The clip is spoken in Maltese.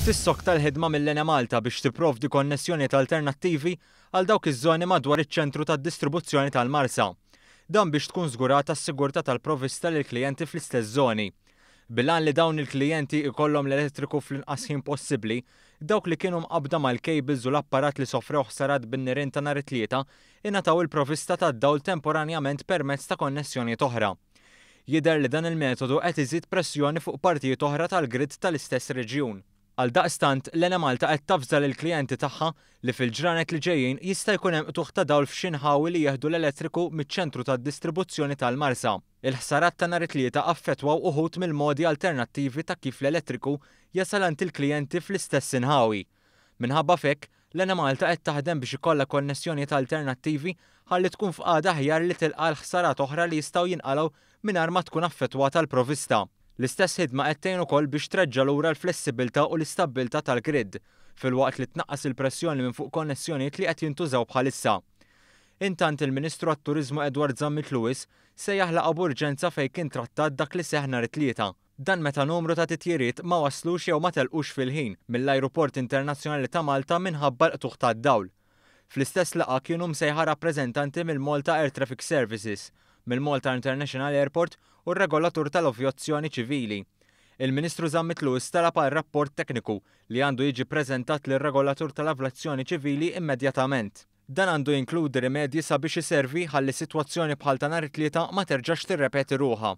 Tissokta l-ħidma mill-Enemalta biex tipprovdi konnessjonijiet alternattivi għal dawk iż-żoni madwar iċ-ċentru tad-distribuzzjoni tal-Marsa. Dan biex tkun żgurata s-sigurtà tal-provvista lill-klijenti fl-istess żoni. Bil-għan li dawn il-klijenti ikollhom l-elettriku fl-inqas ħin possibbli, dawk li kienu mqabbda mal-cables u l-apparat li sofrew ħsarat bin-nirien ta' nhar it-Tlieta ingħataw il-provvista tad-dawl temporanjament permezz ta' konnessjonijiet oħra. Jidher li dan il-metodu qed iżid pressjoni fuq partijiet oħra tal-grid tal-istess reġjun. Għaldaqstant, l-Enemalta qed tavża lill-klijenti tagħha li fil-ġranet li ġejjin jista' jkun hemm qtugħ ta' dawl f'xi nħawi li jieħdu l-elettriku miċ-ċentru tad-distribuzzjoni tal-Marsa. Il-ħsarat ta' nhar it-Tlieta affettwaw uħud mill-modi alternattivi ta' kif l-elettriku jasal għand il-klijenti fl-istess inħawi. Minħabba f'hekk, l-Enemalta qed taħdem biex ikollha konnessjonijiet alternattivi ħalli tkun f'qagħda aħjar li tilqa' għal ħsarat oħra li jistgħu jinqalgħu mingħajr ma tkun affettwata l-provvista. L-istess ħidma qed tgħin ukoll biex treġġa' lura l-flessibilità u l-istabbiltà tal-grid, filwaqt li tnaqqas il-pressjoni minn fuq konnessjonijiet li qed jintużaw bħalissa. Intant, il-Ministru għat-Turiżmu Edward Zammit Lewis sejjaħ laqgħa b'urġenza fejn kien trattat dak li seħħ nhar it-Tlieta. Dan meta numru ta' titjiriet ma waslux jew ma telqux fil-ħin mill-Ajruport Internazzjonali ta' Malta minħabba l-qtugħ tad-dawl. Fl-istess laqgħa kienu msejħa rappreżentanti mill-Malta Air Traffic Services, mill-Malta International Airport u r-regolatur tal-avjazzjoni ċivili. Il-Ministru Zammit Lewis talab għal rapport tekniku li għandu jiġi ppreżentat lir-regolatur tal-avlazzjoni ċivili immedjatament. Dan għandu jinkludi rimedji sabiex iservi ħalli sitwazzjoni bħal ta' nhar it-Tlieta ma terġax tirrepeti ruħha.